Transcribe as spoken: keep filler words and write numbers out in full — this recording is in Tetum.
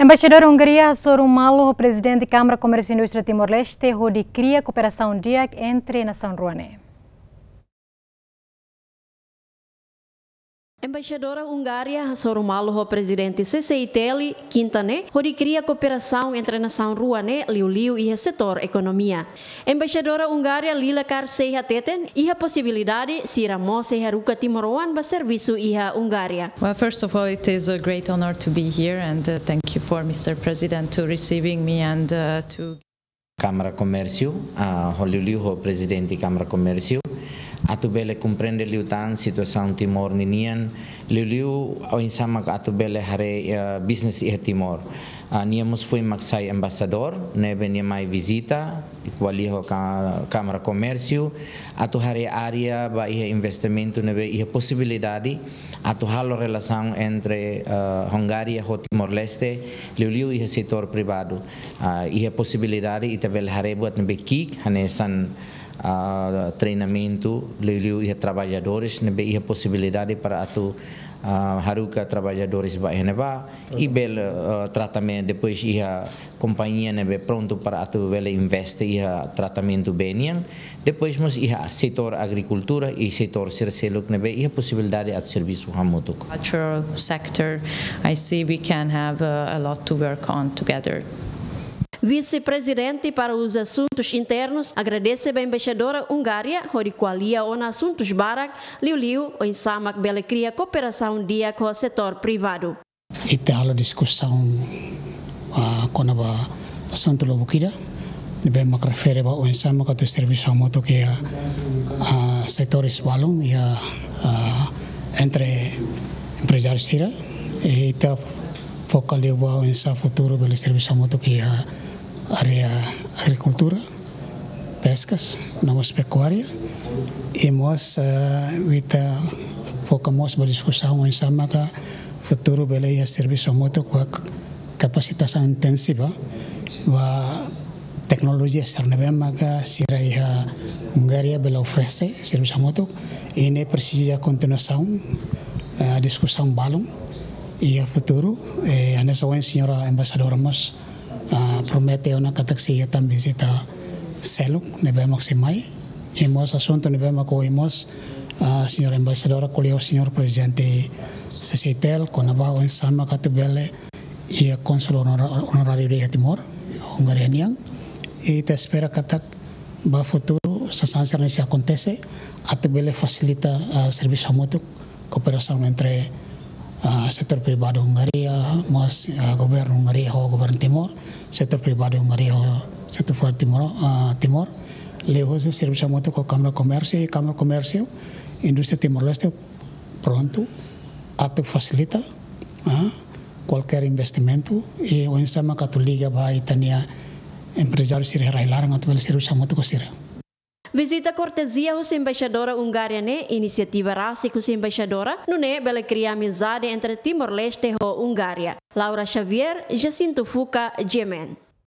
Embaixadór Hungária hasoru malu ho Prezidente Kámara Komérsiu Indústria Timor-Leste hodi kria kooperasaun di'ak entre nasaun rua ne'e. Embaixadora Hungária hasoru malu ho Prezidente C C I T L, Kinta ne'e, hodi kria kooperasaun entre nasaun rua ne'e liuliu iha setór ekonomia. Embaixadora Hungária Lila Karsei hateten, iha posibilidade sira mós sei haruka timoroan ba servisu iha Hungária. Well, first of all, it is a great honor to be here, and, uh, thank you for Mister President to receiving me and, uh, to Kámara Komérsiu, ah, ho liuliu ho Prezidente Kámara Komérsiu, atu bele komprende liután situasaun Timor ninian, liuliu oinsá mak atu bele haree, eh, business iha Timor. Ah, nia mós foin mak sai embaixadór, ne'ebé nia mai vizita, ko'alia ho ka-, Kámara Komérsiu, atu haree área ba iha investimentu ne'ebé iha posibilidade atu halo relasaun entre, eh, Hungária ho Timor-Leste, liuliu iha setór privadu. Ah, iha posibilidade ita bele haree buat ne'ebé ki'ik, hanesan, ah, treinamentu, liuliu iha traballadores, ne'ebé iha posibilidade para atu, ah, haruka traballadores ba iha ne'ebá, i bele, ah, tratamentu, depois iha kompañia ne'ebé prontu para atu bele investe iha tratamentu bee nian, depois mós iha setór agrikultura i setór sira seluk ne'ebé iha posibilidade atu servisu hamutuk. Agricultural sector, I see we can have, uh, a lot to work on together. Vise-Prezidente para os Assuntos Internos agradese ba Embaixadora Hungária hodi ko'alia ona asuntus barak, liuliu oinsá mak bele kria kooperasaun di'ak ho setór privadu. Ita halo diskusaun, ah, kona-ba asuntu lubuk ida, ne'ebé mak refere ba oinsá mak atu servisu hamutuk iha, ah, setores balun iha, ah, entre emprezáriu sira. I ita foka liu ba oinsá futuru bele servisu hamutuk iha área agrikultura, peskas, no mós pekuária. I mós, eh, ita foka mós ba diskusaun oinsá maka futuru bele iha servisu hamutuk ba kapasitasaun intensiva ba teknolojia sira ne'ebé maka sira iha Hungária bele oferese servisu hamutuk. I ne'e presiza kontinuasaun, eh, diskusaun balun iha futuru. Eh, hanesan ohin señora embaixadora mós, ah, promete ona katak sei iha tan vizita seluk ne'ebé mak sei mai. I mós asuntu ne'ebé mak ohin mós, ah, señora embaixadora ko'alia ho señór Prezidente C C I T L, kona-ba oinsá mak atu bele iha kónsul onora-, onoráriu iha Timor, Hungária nian. I ita espera katak ba futuru sasán sira-ne'e sei akontese, atu bele fasilita, ah, servisu hamutuk, kooperasaun entre, ah, setór privadu Hungária, mós, ah, governu Hungária ho governu Timor, setór privadu Hungária ho setór privadu Timor, ah, Timor. Liuhusi servisu hamutuk ho Kámara Komérsiu, i Kámara Komérsiu, Indústria Timor-Leste prontu atu fasilita, ah, kualkér investimentu, i oinsá mak atu liga ba ita-nia emprezáriu sira iha rai-laran atu bele servisu hamutuk ho sira. Vizita kortezia husi Embaixadora Hungária ne'e inisiativa rasik husi Embaixadora, nune'e bele kria amizade entre Timor-Leste ho Hungária. Laura Xavier, Jacinto Fuca, G M N.